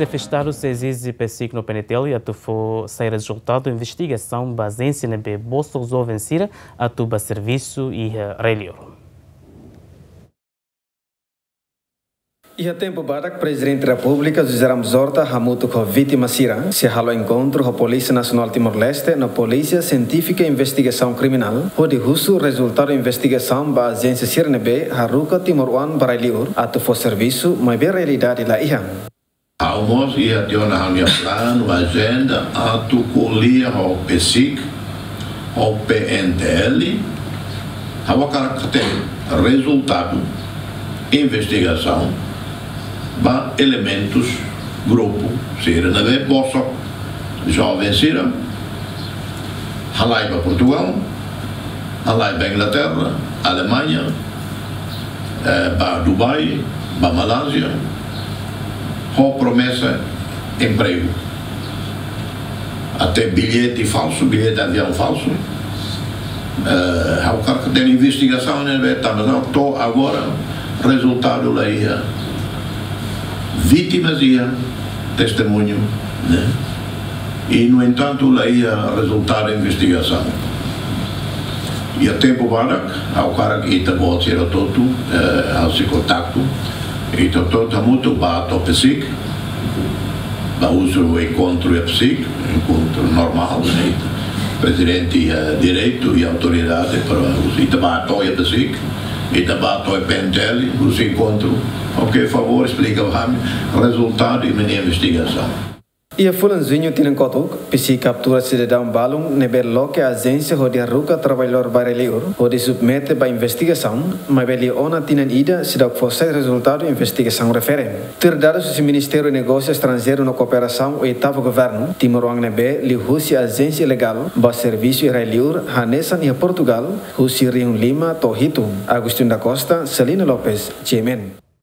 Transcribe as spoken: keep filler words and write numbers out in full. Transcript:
Xefe Estadu sei ezije PCIC no PNTL atu fó sai rezultadu investigasaun ba ajénsia ne'ebé bosok joven sira atu bá servisu iha rai-li'ur. Iha tempu badak, Prezidente Repúblika José Ramos Horta hamutuk ho vítima sira sei halo enkontru ho Polísia Nasionál Timor-Leste no Polísia Sientífika Investigasaun Kriminál hodi husu rezultadu investigasaun ba ajénsia sira ne'ebé haruka timoroan ba rai-li'ur atu fó servisu, maibé realidade la iha. Ha'u mós iha tiha ona ha'u-nia planu, ajenda, atu ko'alia ho PCIC, ho PNTL, ha'u hakarak hatene rezultadu investigasaun ba elementus, grupu sira ne'ebé bosok, joven sira, halai ba Portugal, halai ba Inglaterra, Alemaña, eh, ba Dubai, ba Malázia, ho promesa empregu. Até billete falsu, billete aviaun falsu. Eh, ha'u hakarak hatene investigasaun ne'ebé tama to'o agora, rezultadu la iha. Vítimas iha, testemuñu, ne'e? I, no entantu, la iha rezultadu investigasaun. Iha tempu badak, ha'u hakarak ita-boot sira hotu-hotu, eh, halo kontaktu, ita hotu-hotu hamutuk bá to'o PCIC, bá husu enkontru iha PCIC, enkontru normál, ne'e? Prezidente iha direitu i autoridade para husu. Ita bá to'o iha PCIC, ita bá to'o iha PNTL, husu enkontru. Oke, favór esplika ba ami rezultadu imi-nia investigasaun. Iha fulan Juñu tinan kotuk, PCIC kaptura sidadaun balun ne'ebé loke ajénsia hodi haruka traballadór ba rai-li'ur hodi submete ba investigasaun, maibé liu ona tinan ida seidauk fó sai rezultadu investigasaun refere. Tuir dadus husi Ministériu Negósiu Estranjeiru no Kooperasaun, oitavu governu, timoroan ne'ebé liuhusi ajénsia ilegál bá servisu iha rai-li'ur hanesan iha Portugal, husi rihun lima to'o hitu. Agostinho da Costa, Celina Lopes, GMN.